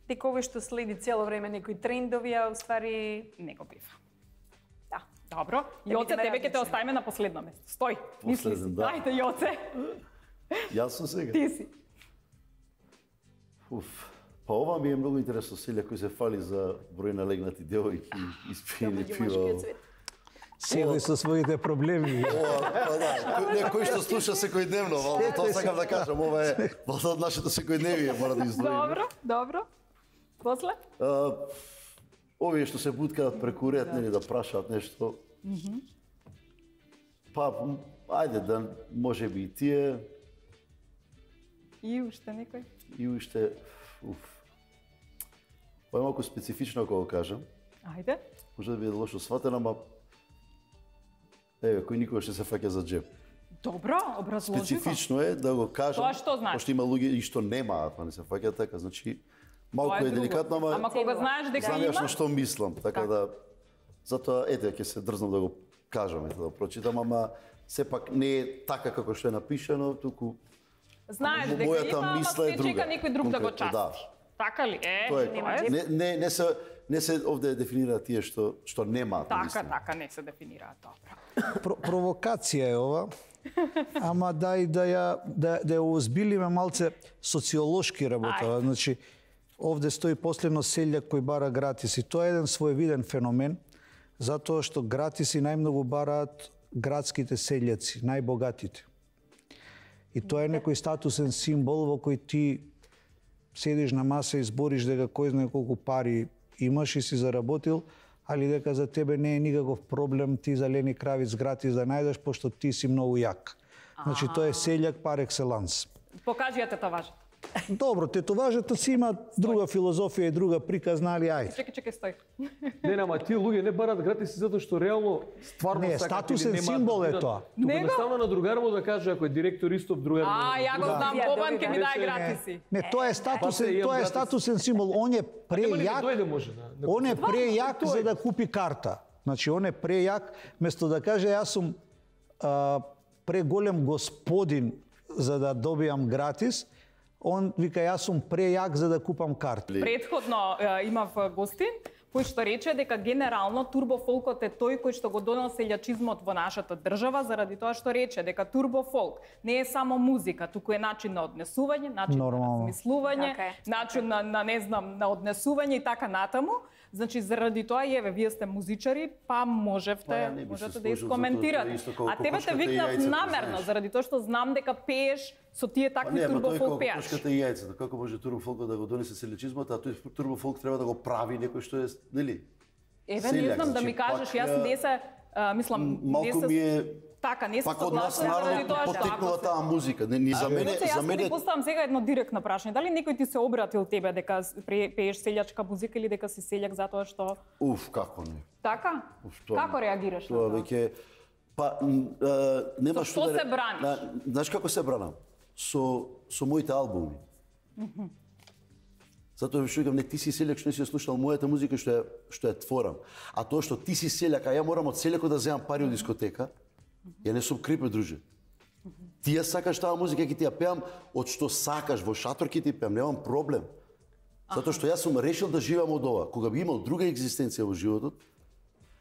дека овој што следи цело време некои трендови, а уствари Не го бива. да. Добро. Да Јоце, бидеме тебе ќе те различни. оставиме на последно место. Стој, мисли си. Последен, да. Ајде, Јоце, Јас сум сега. ти си. Уф. Па ова ми е многу интересно, селјак кој се фали за број на легнати девојки, испиени Меѓу пива. мажкиот свет. Секој со своите проблеми. Ова, па да, кој, не, кој што слуша секојдневно, вално, тоа сакам да кажам, ова е вално од нашето секојдневие, мора да издвоиме. Добро, добро. После? А, овие што се буткаат преку ред, нели да прашаат нешто. Па, м, ајде да може би и тие И уште некој? и уште уф. Па е малку специфично ако го кажам. Ајде. Може да биде лошо сватено, ама еве кој никогаш не се фаќа за џеб. Добро, образложи го. Специфично е да го кажам. Тоа што значи? Пошто има луѓе и што немаат, па не се фаќаат така, значи малку Тоа е друго. деликатно, ама Ама кога знаеш дека знам јас има, на што мислам, така да Затоа ете ќе се дрзнам да го кажам, ете да го прочитам, ама сепак не е така како што е напишано, туку Знаеш дека мојата има, ама мисла е се друга. чека некој друг да го Конкретно, части. да. Така ли? Е, Тоа е, тоа е. не, не, не се не се овде дефинира тие што што немаат. Така, наистина. така не се дефинираат, добро. Про, провокација е ова, ама дај да ја да, да ја озбилиме малце социолошки работа. Значи, овде стои последно селјак кој бара гратиси. Тоа е еден своевиден феномен, затоа што гратиси најмногу бараат градските селјаци, најбогатите. И тоа е некој статусен символ во кој ти седиш на маса и збориш дека кој знае колку пари имаш и си заработил, али дека за тебе не е никаков проблем ти зелени кравиц гратис да најдеш, пошто ти си многу јак. Значи, тоа е селјак пар екселанс. Покажи ја тетоважата. Добро, тетоважата си има друга филозофија и друга приказна, али ајде. Чекај, чекај, стој. Не, ама тие луѓе не барат гратиси затоа што реално стварно Не, сакат статусен или немаат символ да е бидат. тоа. Туку Него? едноставно на другар му да каже ако е директор исто другар. А, ја го Да. знам, Ја Бобан доби, ќе ми да. даде Не, гратиси. не, тоа е статусен, Па се, имам тоа е гратис. статусен символ. Он е Нема ли да прејак. дојде може да. да Он е прејак Тоа е. за да купи карта. Значи, он е прејак, место да каже јас сум а, преголем господин за да добијам гратис, он вика јас сум прејак за да купам карта. Предходно е, имав гостин кој што рече дека генерално турбофолкот е тој кој што го донел селјачизмот во нашата држава, заради тоа што рече дека турбофолк не е само музика, туку е начин на однесување, начин Нормално. на размислување, Така е. начин на, на не знам, на однесување и така натаму. Значи заради тоа и еве вие сте музичари, па можевте, Па, ја не би се можете да сложил, искоментирате. затоа тоа е исто како А тебе те кокошката и викнав јајцето, намерно, знаеш. заради тоа што знам дека пееш со тие Па такви не, ама тој турбофолк како пејачи. кошката и јајцето, како може турбофолкот да го донесе селјачизмот, а тој турбофолк треба да го прави некој што е, нели? Еве, не Селјак, знам да значи, ми кажеш, пак, јас не се, а, мислам, не Малку се... ми е Така, не се пак од нас согласна заради народот тоа што потекнува ако се... таа музика. Не, ни за мене, Иначе, јас за ќе мене ти поставам сега едно директно прашање. Дали некој ти се обратил тебе дека пре- пееш селјачка музика или дека си селјак затоа што... уф, како не. Така? Уф, тоа- Како реагираш на Тоа тоа? веќе па м, е, нема Со што што да се браниш? На- Знаеш како се бранам? Со со моите албуми. Затоа што викам, не ти си селјак што не си ја слушал мојата музика што ја што ја творам. А тоа што ти си селјак, а ја морам од селјакот да земам пари од дискотека, ја не сум крипе, друже. Ти ја сакаш таа музика, ќе ти ја пеам од што сакаш, во шатор ќе ти пеам, немам проблем. Затоа што јас сум решил да живеам од ова. Кога би имал друга екзистенција во животот,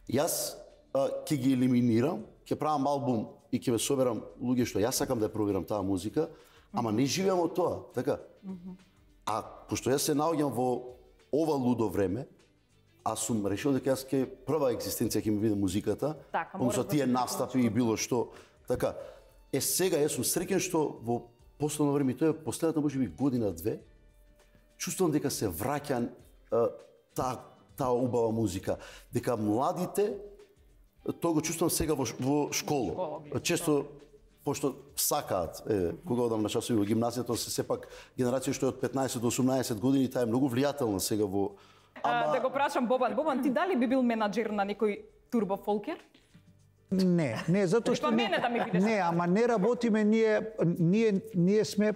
јас а, ќе ги елиминирам, ќе правам албум и ќе ве соберам луѓе што јас сакам да ја пробирам таа музика, ама не живеам од тоа, така? А пошто јас се наоѓам во ова лудо време, а сум решил дека јас ќе прва екзистенција ќе ми биде музиката, Така, помеѓу мораш да тие се настапи и било што, така. Е сега јас сум среќен што во последно време, и тоа е последната можеби година-две, чувствувам дека се враќа а, таа таа убава музика, дека младите тоа го чувствувам сега во, ш- во школа. Често пошто сакаат, е, кога одам на часови во гимназијата, се сепак генерација што е од петнаесет до осумнаесет години, таа е многу влијателна сега во А, да го прашам Бобан. Бобан, ти дали би бил менаџер на некој турбофолкер? Не, не, затоа што Па мене да ми бидеш. не, ама не работиме ние ние ние сме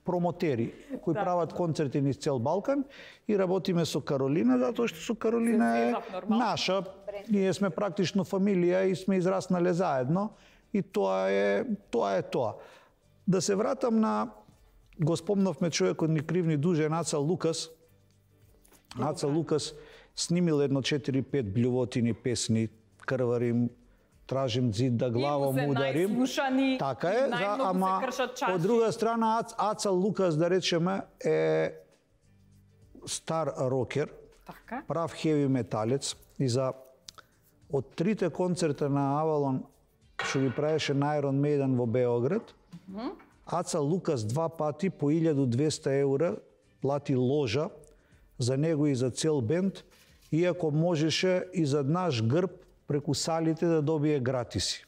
промотери кои Да. прават концерти низ цел Балкан и работиме со Каролина затоа што со Каролина Се е свезав, нормално. наша. Ние сме практично фамилија и сме израснале заедно и тоа е тоа е тоа. Да се вратам на го спомнавме човекот ни крив ни дужен Аца Лукас. Аца Лукас снимил едно четири-пет блјувотини песни, крварим, тражим зид да главом се ударим. најслушани, Така е, за, најмногу се ама кршат чаши. од друга страна Ац, Аца Лукас, да речеме, е стар рокер, Така. прав хеви металец и за од трите концерта на Авалон што ги правеше на Iron Maiden во Београд, Аца Лукас два пати по илјаду и двесте еура плати ложа за него и за цел бенд, иако можеше и за наш грб преку салите да добие гратиси.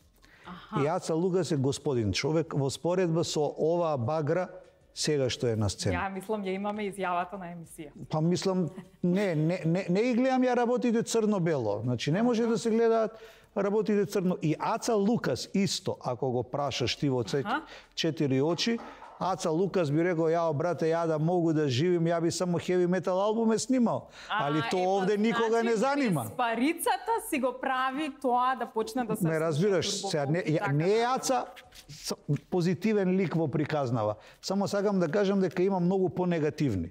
И Аца Лукас е господин човек во споредба со оваа багра сега што е на сцена. Ја мислам ја имаме изјавата на емисија. Па мислам, не, не, не, не ги гледам ја работите црно-бело. Значи, не може да се гледаат работите црно. И Аца Лукас исто, ако го прашаш ти во цет- четири очи, Аца Лукас би рекол, јао брате, ја да могу да живим, ја би само хеви метал албуме снимал. Али А, тоа ето, овде никога не значи, занима. без парицата си го прави тоа да почне да се Не разбираш, слуша сега не, ја, така, не е така. Аца с- позитивен лик во приказнава. Само сакам да кажам дека има многу понегативни.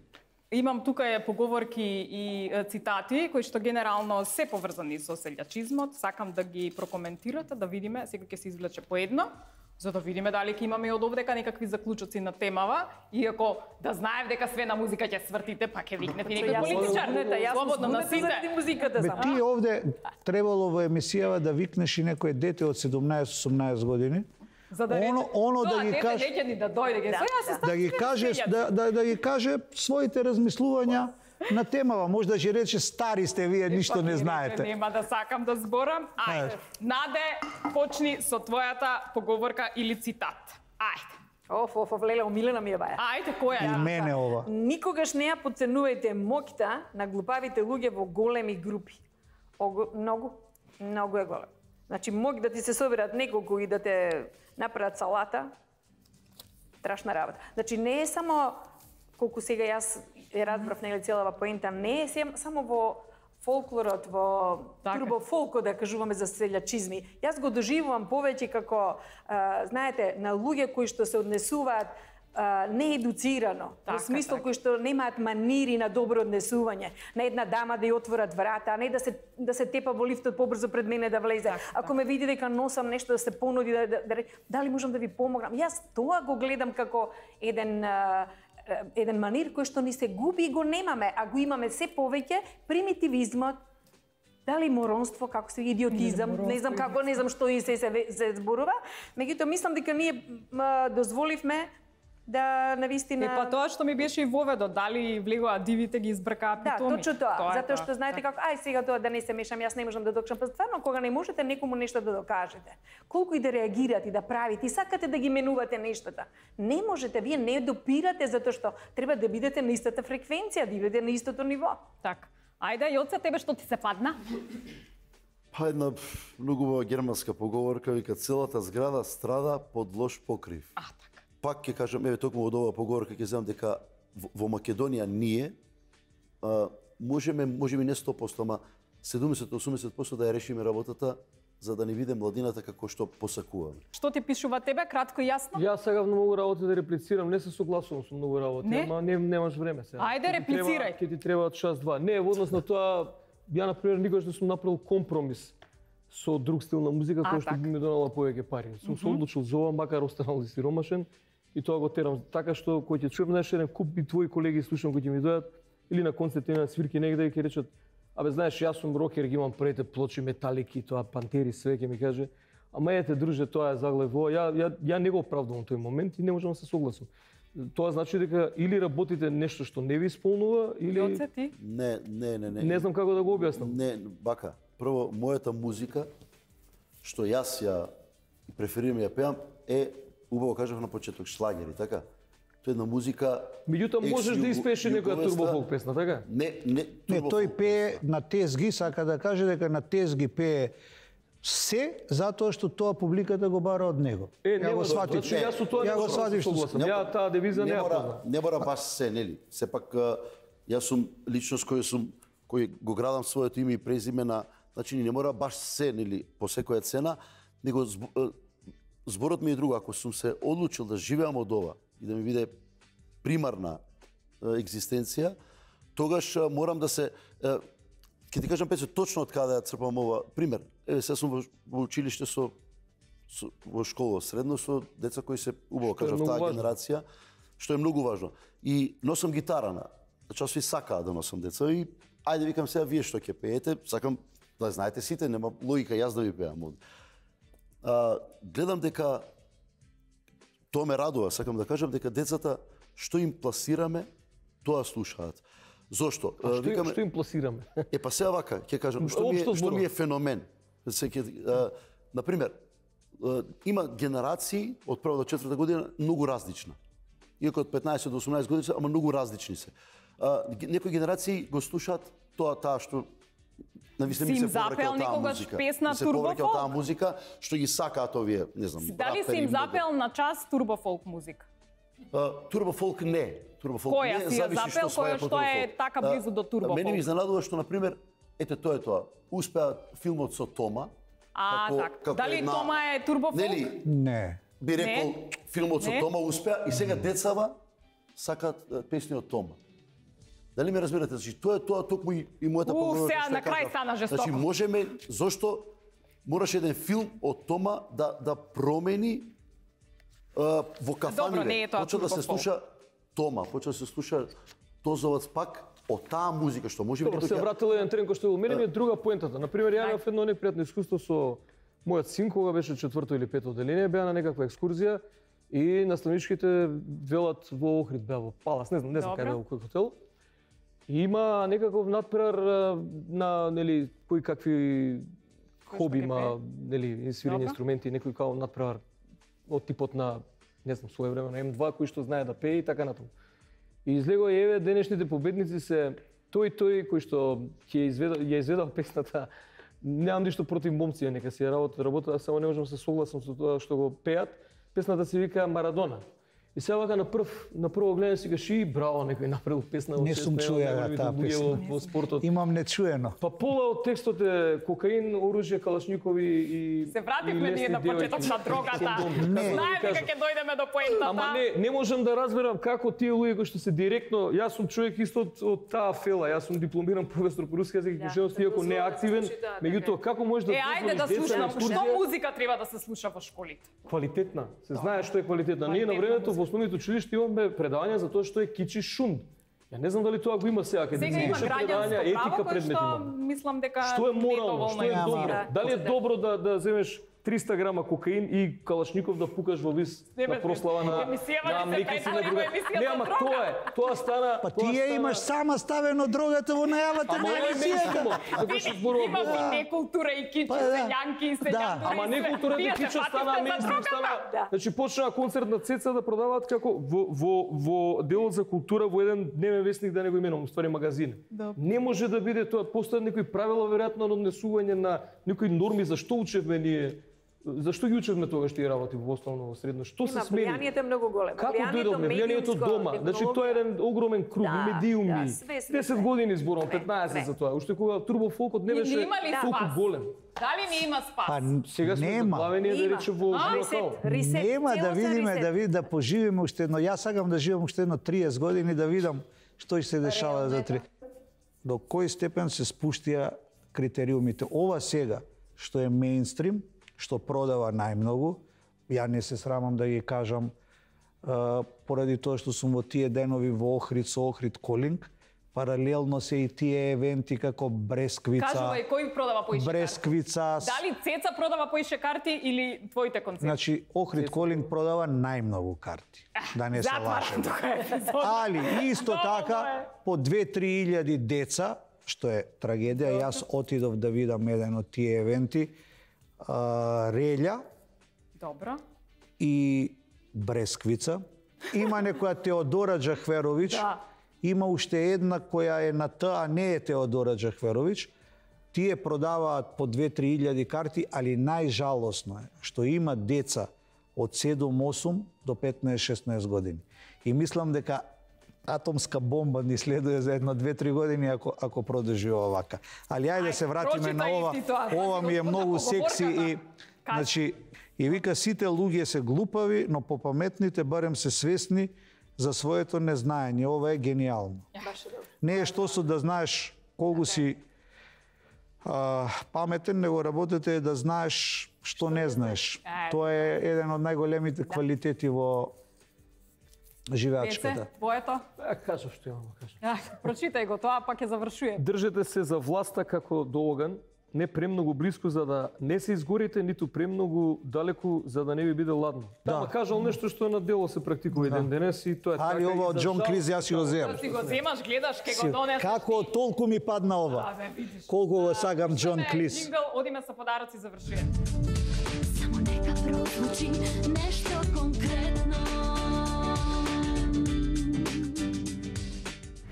Имам тука е поговорки и е, цитати кои што генерално се поврзани со селјачизмот. Сакам да ги прокоментирате, да видиме, секој ќе се извлече по едно, за да видиме дали ќе имаме и од овдека некакви заклучоци на темава, иако да знаев дека све на музика ќе свртите, па ќе викнете некој Јас сум политичар. збунета, јас сум Слободно збунета носите. заради музиката Бе, само. ти овде требало во емисијава да викнеш и некој дете од седумнаесет-осумнаесет години, За да Оно- рече, оно да тоа ги дете каже- неќе ни да дојде, ќе Да, со јас се да. ставам да ги све каже селјаци. да, да, да ги каже своите размислувања на темава. Може да ќе рече стари сте вие, ништо Па, не рече, знаете. Нема да сакам да зборам. Ајде. Ајде. Наде, почни со твојата поговорка или цитат. Ајде. Оф, оф, оф, леле, омилена ми е баја. Ајде, која И е? мене ова. Никогаш не ја подценувајте моќта на глупавите луѓе во големи групи. Ого, многу, многу е голем. Значи, моќ да ти се соберат неколку и да те направат салата, страшна работа. Значи, не е само, колку сега јас ја разбрав, нели целава поента, не е сем- само во фолклорот, во Така. турбофолкот, да кажуваме за селјачизми. Јас го доживувам повеќе како, а, знаете, на луѓе кои што се однесуваат а, неедуцирано, Така, во смисол така. кои што немаат манири на добро однесување, на една дама да ја отворат врата, а не да се да се тепа во лифтот побрзо пред мене да влезе. Така, Ако ме види дека носам нешто да се понуди да, да, да ре- дали можам да ви помогнам. Јас тоа го гледам како еден а, еден манир кој што ни се губи и го немаме, а го имаме се повеќе примитивизмот, дали моронство, како се идиотизам, не знам како, не знам што и се се, се зборува, меѓутоа мислам дека ние м, дозволивме да навистина. Е, па тоа што ми беше и воведо, дали влегоа дивите ги избркаа Да, питоми. точно тоа. е Затоа што знаете како, ај сега тоа да не се мешам, јас не можам да докажам. Па стварно кога не можете некому нешто да докажете, колку и да реагирате и да правите, и сакате да ги менувате нештата, не можете, вие не допирате затоа што треба да бидете на истата фреквенција, да бидете на истото ниво. Така. Ајде, Јоце, тебе што ти се падна? Па една пф, многу убава германска поговорка, вика целата зграда страда под лош покрив. А, така. Пак ќе кажам, еве токму од оваа поговорка ќе знам дека во, во Македонија ние а, можеме, можеби не сто проценти, ама седумдесет до осумдесет проценти да ја решиме работата за да не биде младината како што посакуваме. Што ти пишува тебе, кратко и јасно? Јас сега многу работи да реплицирам, не се согласувам со многу работи, Не? ама не, немаш време сега. Ајде, Ќе ти треба- реплицирај. Ќе ти треба час два. Не, во однос на тоа, ја на пример никогаш не сум направил компромис со друг стил на музика А, кој што така. би ми донела повеќе пари. Сум се одлучил за ова, макар останал и сиромашен, и тоа го терам така што кој ќе чуем знаеш еден куп и твои колеги слушам кои ќе ми дојдат или на концерт или на свирки негде и ќе речат абе знаеш јас сум рокер, ги имам прете плочи металики, тоа пантери све ќе ми каже. Ама ете друже, тоа е заглед во. Ја ја ја не го оправдувам тој момент и не можам да се согласам. Тоа значи дека или работите нешто што не ви исполнува или Јоце, ти? Не, не, не, не. не знам како да го објаснам. Не, бака. Прво, мојата музика, што јас ја преферирам ја пеам, е, убаво кажав на почеток, шлагери, така? Тоа е една музика... Меѓутоа можеш да испееш и некоја екс-југовеста. турбофолк песна, така? Не, не, Не, турбофолк. тој пее на тезги, сака да каже дека на тезги пее се затоа што тоа публиката го бара од него. Е, ја го нема да- сватив. значи, јас со тоа не ја го можам да се сватив што согласам. Не- Ја таа девиза не не ја мора, познам. не мора баш се, нели? Сепак а, јас сум личност кој сум кој го градам своето име и презиме на, значи не мора баш се, нели, по секоја цена, него зб- а, зборот ми е друго, ако сум се одлучил да живеам од ова и да ми биде примарна а, екзистенција, тогаш а, морам да се а, ќе ти кажам Пецо точно од каде ја црпам ова пример. Еве сега сум во, во училиште со со, во школа средно со деца кои се убаво Што е кажав многу таа важно. генерација, што е многу важно. И носам гитара на. Значи сви сакаат да носам деца и ајде викам сега вие што ќе пеете, сакам да знаете сите, нема логика јас да ви пеам од. А, гледам дека тоа ме радува, сакам да кажам дека децата што им пласираме, тоа слушаат. Зошто? А што, Викаме- што им пласираме? Е па сега вака, ќе кажам, што ми е, Општо што ми е зборувам. феномен. Се ќе а, на пример, а, има генерации од прва до четврта година многу различна. Иако од петнаесет до осумнаесет години се, ама многу различни се. А, ге- некои генерации го слушаат тоа таа што навистина Си ми им се повраќа запел од таа некогаш музика. песна Ми се повраќа од турбофолк? таа музика што ги сакаат овие, не знам, Дали си рапери им многу. запел на час турбофолк музика? Турбо фолк не. Турбо фолк Која не, си ја зависи запел, што сваја која по што е турбо фолк. така близу до турбо Мене ми фолк? изненадува што, например, ете тоа е тоа. Успеа филмот со Тома. А, како- така. како Дали една- Тома е турбо фолк? Нели, Не. би рекол, Не. филмот со Не. Тома успеа и сега децава сакаат е, песни од Тома. Дали ме разбирате? Значи, тоа е тоа токму и, и мојата У, погода. сега што ја на крај кажав. стана жестоко. Значи, можеме, зошто мораше еден филм од Тома да, да промени а, во кафаните. Добро, не е тоа Почна да турбо се фолк. слуша Тома, почна да се слуша Тозовац пак од таа музика што може би Добро, некој се ќе- вратила еден трен кој што мене ми е друга поентата. Например, ја имав едно непријатно искуство со мојот син кога беше четврто или пето одделение, беа на некаква екскурзија и наставничките велат во Охрид, беа во Палас, не знам, не знам Добро. каде беа, во кој хотел. И има некаков надпревар а, на нели кои какви хоби ќе има, нели инсвирење Добро. инструменти, некој као надпревар од типот на не знам, своевремено Ем два кој што знае да пее и така натаму. И излегува и еве денешните победници се тој тој кој што ќе изведа ја изведал песната. Немам ништо против момци, нека си ја работат, работат, само не можам да се согласам со тоа што го пеат. Песната се вика Марадона. И сега вака на прв на прво гледање си кажи браво, некој направил песна Не сум чуја таа песна. во, во спортот. Имам нечуено. Па пола од текстот е кокаин, оружје, калашникови и Се вративме и ние лесни на почеток девојки. на дрогата. Не. Знаев дека ќе дојдеме до поентата. Ама не, не можам да разберам како тие луѓе кои што се директно, јас сум човек исто од, од таа фела, јас сум дипломиран професор по руски јазик и книжевност, иако не активен, меѓутоа како можеш да Е, ајде да дозволиш деца на слушам, што екскурзија музика треба да се слуша во школите? квалитетна, се знае што е квалитетна. Ние на Квалитетна времето музика. во основните училишта имаме предавања за тоа што е кичи шум. Ја не знам дали тоа го има сега, каде Сега има имаше предавања, граѓанско етика право кој предмет што има. мислам дека Што е морално, недоволно што е ја добро? мира. Дали е добро да да земеш триста грама кокаин и калашников да пукаш во вис Не, на бе, прослава на емисијава на ни се млеки си на претвори во друга. емисија Не, за ама дрога. тоа е, тоа стана. Па тоа тие стана- имаш сама ставено дрогата во најавата Ама на ова е емисијата. меѓусумно, затоа што зборува Има Бог. и некултура и кичи, Па да. сењанки и сењандури. Да. и Ама све. не културата Вие се кича стана фативте за мејнстрим, дрогата. стана. Да. Значи почна концерт на Цеца да продаваат како во во во делот за култура во еден дневен весник, да не го именувам, ствари магазин. Не може да биде тоа, постојат некои правила веројатно на однесување на некои норми за што учевме ние. Зашто ги учевме тогаш тие работи во основно во средно? Што се Има, смени? влијанието е многу големо. Како Влијанието дојдовме? Влијанието од медиумско, дома. Значи тоа е еден огромен круг, Да, медиуми. да, све, све, десет све. години зборам, Све, петнаесет све. за тоа. Уште кога турбо фолкот не И не беше има ли толку спас? голем. Дали не има спас? Па Сега сме нема. заглавени да Има. рече во А, живота. Ресет, ресет. Нема да целосно видиме, ресет. да види, да поживиме уште едно. Јас сакам да живеам уште едно триесет години да видам што ќе се дешава за три. До кој степен се спуштија критериумите. Ова сега што е мејнстрим, што продава најмногу, ја не се срамам да ги кажам, а, поради тоа што сум во тие денови во Охрид со Охрид Колинг, паралелно се и тие евенти како Бресквица, Кажувај, кој продава поише карти? Бресквица, Дали Цеца продава поише карти или твоите концерти? значи Охрид Колинг продава најмногу карти, да не се Затварам лажеме. тука епизода. Али исто Доволно така е. по две-три илјади деца, што е трагедија, јас отидов да видам еден од тие евенти, а, Релја Добро. и Бресквица. Има некоја Теодора Джахверович, Да. има уште една која е на Т, а не е Теодора Джахверович. Тие продаваат по две-три илјади карти, али најжалосно е што има деца од седум-осум до петнаесет-шеснаесет години. И мислам дека атомска бомба ни следува за едно две-три години ако ако продолжи овака. Али ајде да се вратиме на прочитај ова. ти тоа. Ова ми е Господа, многу секси и поговорката. Кажи. значи и вика сите луѓе се глупави, но попаметните барем се свесни за своето незнаење. Ова е гениално. Не е што су да знаеш колку си а, паметен, него работата е да знаеш што не знаеш. Е. Тоа е еден од најголемите квалитети во живеачката. Песе, боето. Ја кажав што имам да кажам. Ах, прочитај го тоа, па ќе завршуjem. Држете се за власта како до оган, не премногу блиску за да не се изгорите, ниту премногу далеку за да не ви биде ладно. Да. Тама кажал нешто што на дело се практикува и ден денес и тоа е така. Али ова и од за Џон жал- Клиз јас си го земам. Да си го земаш, гледаш, ке го донесеш. Како толку ми падна ова? Абе, видиш. Колку го сагам Џон Слушаме Клиз. Джингл, одиме со подароци, завршуjem. Само нека прозвучи нешто конкретно.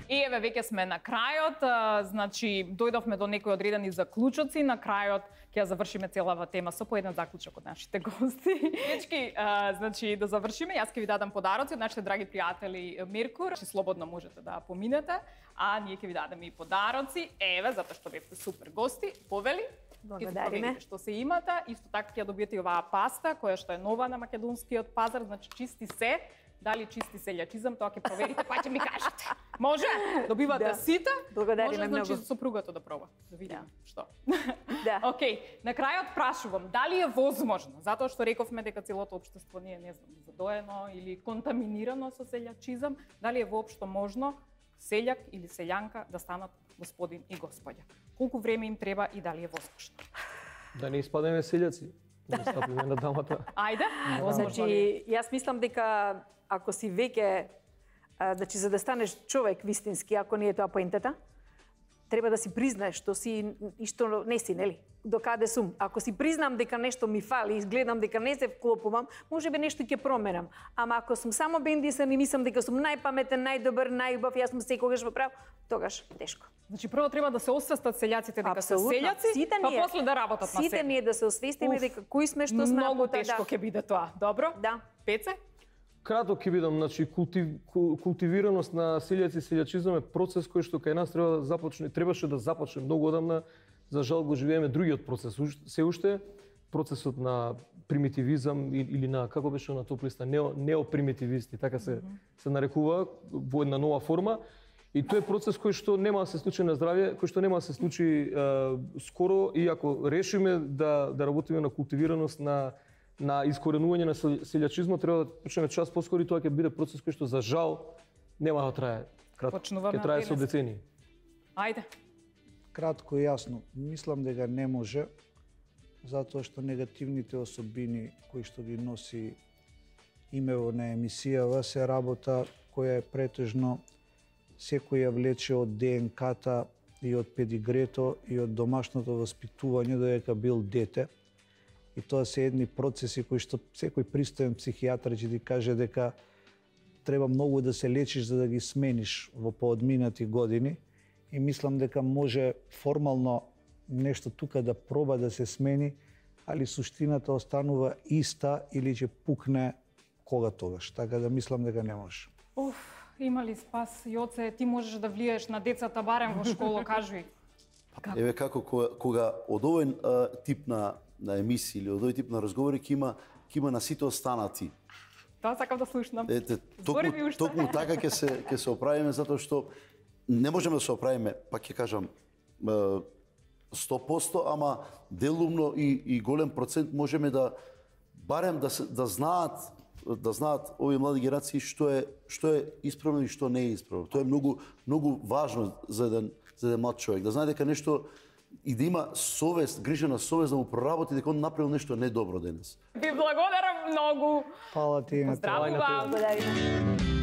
И еве веќе сме на крајот, а, значи дојдовме до некои одредени заклучоци, на крајот ќе ја завршиме целава тема со по еден заклучок од нашите гости. Дечки, а, значи да завршиме, јас ќе ви дадам подароци од нашите драги пријатели Меркур, че слободно можете да поминете, а ние ќе ви дадеме и подароци. Еве, затоа што бевте супер гости, повели. Благодариме. Што се имате, исто така ќе добиете и оваа паста која што е нова на македонскиот пазар, значи чисти се. Дали чисти селјачизам, тоа ќе проверите, па ќе ми кажете. Може? Добивате Да. сите. Благодариме Може, значи, многу. сопругата да проба. Да видиме што. Да. Океј, на крајот прашувам, дали е возможно, затоа што рековме дека целото општество не е, не знам, задоено или контаминирано со селјачизам, дали е воопшто можно селјак или селјанка да станат господин и господја? Колку време им треба и дали е возможно? Да не испадеме селјаци. Да стапиме на дамата. Ајде, возможно Значи, ли? јас мислам дека ако си веќе, а, значи за да станеш човек вистински, ако не е тоа поентата, треба да си признаеш што си и што не си, нели? До каде сум. Ако си признам дека нешто ми фали и гледам дека не се вклопувам, можеби нешто ќе променам. Ама ако сум само бендисан и мислам дека сум најпаметен, најдобар, најубав, јас сум секогаш во прав, тогаш тешко. Значи прво треба да се освестат селјаците дека се Апсолутно. селјаци, Сите па ние- после да работат на Сите себе. ние да се освестиме Уф, дека кои сме, што сме, Многу а потоа тешко да. ќе биде тоа. Добро? Да. Пеце? Кратко ќе видам, значи култив, кул- култивираност на селјаци и селјачизам е процес кој што кај нас треба да започне, требаше да започне многу одамна. За жал го живееме другиот процес. Уш- Се уште процесот на примитивизам и- или на како беше на топ листа нео, неопримитивисти, така се се нарекува во една нова форма. И тој е процес кој што нема да се случи на здравје, кој што нема да се случи е, скоро, и ако решиме да да работиме на култивираност на на искоренување на сел- селјачизмот, треба да почнеме час поскоро и тоа ќе биде процес кој што за жал нема да трае кратко. Почнуваме Ќе трае од со денес. децении. Ајде. Кратко и јасно, мислам дека не може, затоа што негативните особини кои што ги носи имево на емисијава се работа која е претежно секој ја влече од ДНК-та и од педигрето и од домашното воспитување додека бил дете. И тоа се едни процеси кои што секој пристоен психијатар ќе ти каже дека треба многу да се лечиш за да ги смениш во поодминати години. И мислам дека може формално нешто тука да проба да се смени, али суштината останува иста или ќе пукне кога тогаш. Така да мислам дека не може. Уф, има ли спас, Јоце, ти можеш да влиеш на децата барем во школа, кажи. Еве како кога, кога од овој а, тип на на емисии или од овој тип на разговори ќе има ќе има на сите останати. Тоа сакам да слушнам. Ете, Збори ми токму, уште. токму така ќе се ќе се оправиме затоа што не можеме да се оправиме, пак ќе кажам е, сто проценти, ама делумно и, и голем процент можеме да барем да се, да знаат да знаат овие млади генерации што е што е исправно и што не е исправно. Тоа е многу многу важно за еден за еден млад човек, да знае дека нешто и да има совест, грижена совест да му проработи дека он направил нешто недобро денес. Ви благодарам многу. Фала ти на Здраво вам. Благодариме.